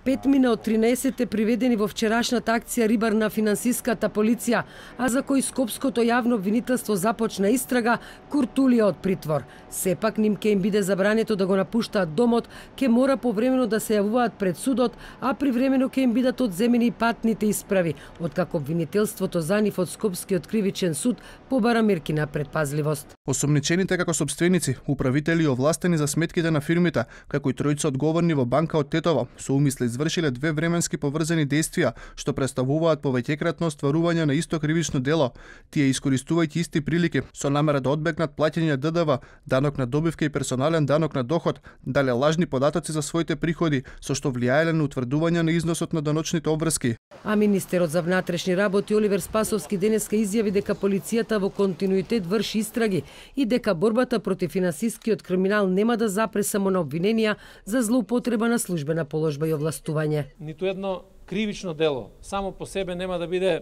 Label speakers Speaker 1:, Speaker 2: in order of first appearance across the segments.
Speaker 1: 5 од 13 приведени во вчерашната акција Рибар на финансиската полиција, а за кои Скопското јавно обвинителство започна истрага, куртулија од притвор. Сепак ним ќе им биде забрането да го напуштаат домот, ќе мора повремено да се јавуваат пред судот, а привремено ќе им бидат одземени патните исправи, откако обвинителството за нив од Скопскиот кривичен суд побара мерки на предпазливост.
Speaker 2: Осомничените како сопственици, управители и овластени за сметките на фирмите, како и тројца одговорни во банка од Тетово, со умисли извршиле две временски поврзани действија, што представуваат повеќекратно остварување на исто кривично дело. Тие искористувајќи исти прилики со намера да одбегнат плаќање ДДВ, данок на добивка и персонален данок на доход, дале лажни податоци за своите приходи, со што влијаеле на утврдување на износот на даночните обврски.
Speaker 1: А министерот за внатрешни работи Оливер Спасовски денеска изјави дека полицијата во континуитет врши истраги и дека борбата против финансискиот криминал нема да запре само на обвиненија за злоупотреба на службена положба и овластување.
Speaker 3: Ниту едно кривично дело само по себе нема да биде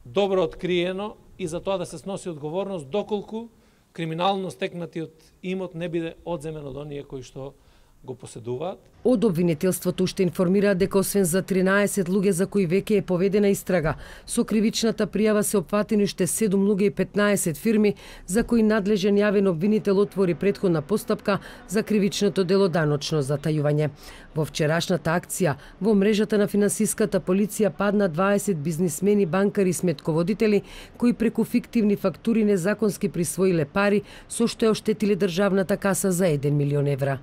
Speaker 3: добро откриено и за тоа да се сноси одговорност доколку криминално стекнатиот имот не биде одземен од оние кои што го поседуваат.
Speaker 1: Од обвинителството уште информира дека освен за 13 луѓе за кои веќе е поведена истрага, со кривичната пријава се опфатени уште 7 луѓе и 15 фирми за кои надлежен јавен обвинител отвори претходна постапка за кривичното дело даночно затајување. Во вчерашната акција во мрежата на финансиската полиција падна 20 бизнисмени, банкари и сметководители кои преку фиктивни фактури незаконски присвоиле пари со што ја оштетиле државната каса за 1 милион евра.